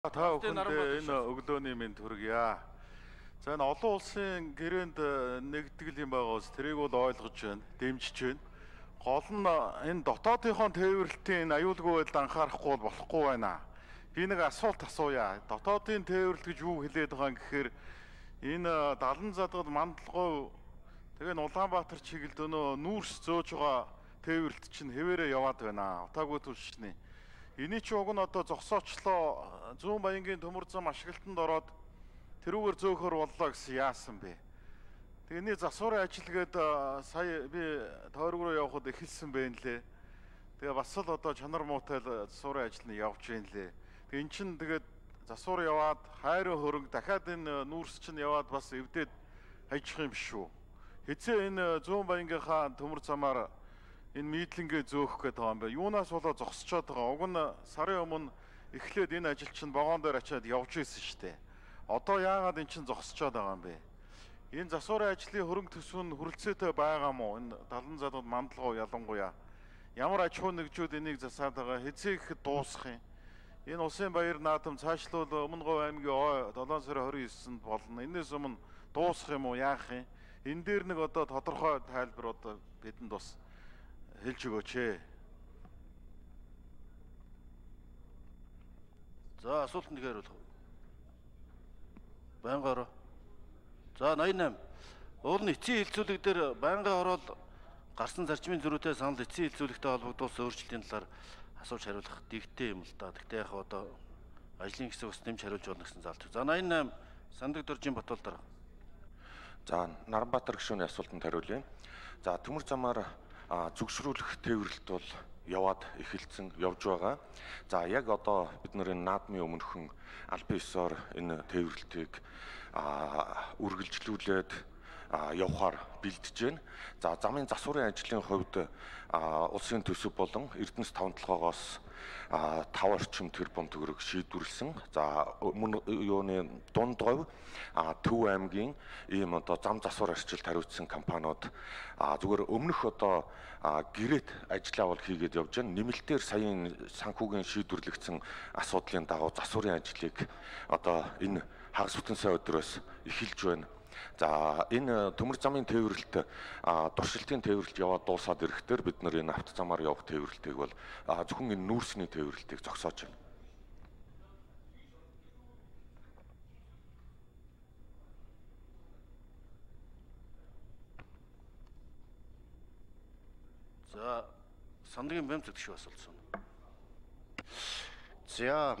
Та бүхэнд энэ өглөөний мэнд хүргье. За энэ олон улсын гэрээнд нэгтгэл юм байгаа ус тэрийг бол ойлгож байна, дэмжиж байна. Гол нь энэ дотоодынхон тээвэрлэлтийн аюулгүй байдал анхаарахгүй болохгүй байна. Би нэг асуулт асууя. Дотоодын тээвэрлэл гэж юу хэлээд байгаа юм гэхээр энэ Далан задгал Мандалгой тэгээ Улаанбаатар чиглэлд өнөө нүүрс зөөж байгаа тээвэрлэлт чинь хэвээрээ яваад байна. Утаагүй түлшний. Эний чи уг нь одоо зогсоочлоо зүүн баянгийн төмөр зам ашиглалтанд ороод тэрүүгээр зөөхөр боллоо гэсэн яасан бэ? Тэний засварын ажилгээд сая би тойрог руу явхад эхэлсэн байна лээ. Тэгээ бас л одоо чанар муутай засварын ажил нь явж байна лээ. Тэгээ эн чин тэгээд засвар яваад хайрын хөрөнгө дахиад энэ нүүрс чинь яваад бас эвдээд хajих юм биш үү? Хэзээ энэ зүүн баянгийнхаа төмөр замаар энэ мидлингээ зөөх гэдэг байгаа юм байна. Юунаас болоо зогсчоод байгаа. Уг нь сарын өмнө эхлээд энэ ажил чинь вагон дээр очиад явж исэн шүү дээ. Одоо яагаад эн чинь зогсчоод байгаа юм бэ? Энэ засварын ажлын хөрөнгө төсвөн хүрэлцээтэй байгаа мó? Энэ Далан задгал Мандалгой ялангуяа. Ямар аж ахуй нэгжүүд энийг засаад байгаа? Хэзээ ихэд дуусах юм? Энэ улсын баяр наадам цаашлуул Өмнө Говь аймгийн 7 сарын 29-нд болно. Энээс өмнө дуусах юм уу? Яах юм? Энэ дээр нэг одоо тодорхой тайлбар одоо бидэнд бас хэлж өгөөч ээ. За асуултанд хариулах. Байнга ороо. За 88. Уул нь эцсийн хилцүүлэг дээр байнгын ороод гарсан зарчмын зөрүүтэй санал эцсийн хилцүүлэгтэй холбогдуулсан өөрчлөлтийн талаар асууж хариулах дэгтэй юм л да. Тэгтээ яг одоо ажлын хэсэг бас нэмж хариулж болно гэсэн заалт. За 88 Сандаг Доржийн Батбол дараа. За Наранбаатар гишүүний асуултанд хариулъя. За төмөр замаар зүгшрүүлэх тээвэрлэлт бол яваад эхэлсэн явж байгаа. За яг одоо бид нар энэ наадмын өмнөхөн албан ёсоор энэ тээвэрлэлтийг үргэлжлүүлээд явахаар бэлдэж байна. За замын засварын ажлын хувьд улсын төсөв болон Эрдэнэс 5-7-оос 5 орчим тэрбум төгрөг шийдвэрлсэн. За юуны Дунд Говь Төв аймгийн ийм одоо зам засвар арчилд хариуцсан компаниуд зүгээр өмнөх одоо гэрээт ажиллаа бол хийгээд явж байна. Нэмэлтээр саяын санхүүгийн шийдвэрлэгдсэн асуудлын дагуу засварын ажлыг одоо энэ хагас бүтэн сая өдрөөс эхэлж байна. За энэ төмөр замын тээвэрлэлт туршилтын тээвэрлэлт яваад дуусаад ирэхдээ бид нар энэ автозамаар явах тээвэрлэлтийг бол зөвхөн энэ нүүрсний тээвэрлэлтийг зогсоож байна. За Сандагийн Бямцэг гişүү асуулт. За